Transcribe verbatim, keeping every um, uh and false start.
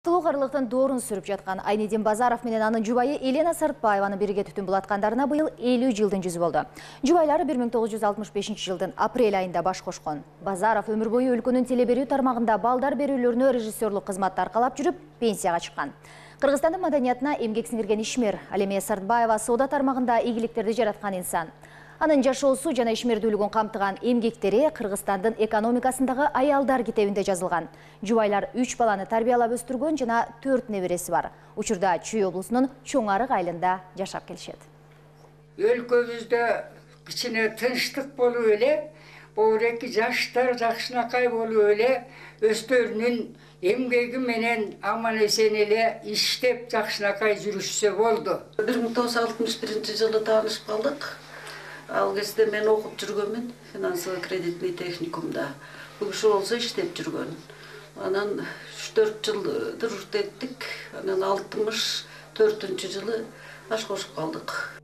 Тылугарлыктын доорун сүрүп жаткан Айнедин Базаров менен анын жубайы Елена Сартбаеваны бирге түтүн булаткандарына быйыл элүү жылдын жүзү болду. Жубайлары бир миң тогуз жүз алтымыш бешинчи жылдын апрель айында баш кошкон. Базаров өмүр бою өлкөнүн теле берүү тармагында балдар берүүлөрүнө режиссерлук кызматты аркалап жүрүп, пенсияга чыккан. Кыргызстандын маданиятына эмгек сиңирген ишмер. Ал эми Сартбаева соода тармагында ийгиликтерди жараткан инсан. Анын жашоосу жана ишмердүүлүгүн камтыган эмгектери Кыргызстандын экономикасындагы аялдар китебинде жазылган. Жубайлар үч баланы тарбиялап өстүргөн жана төрт небереси бар. Учурда Чүй облусунун Чоң Арык айылында жашап келишет. Өлкөбүздө кичине тынчтык болуп эле, боореки жаштар жакшынакай болуп эле, өздөрүнүн эмгеги менен аман эсен эле иштеп жакшынакай жүрүшсө болду. бир миң тогуз жүз алтымыш биринчи жылы таанышып калдык. Ал кезде мен окуп жүргөнмүн финансово-кредитный техникумда. Бул киши болсо иштеп жүргөн. Анан үч төрт жылдыр урт еттик. Анан алтымыш төртүнчү жылы баш кошуп калдык.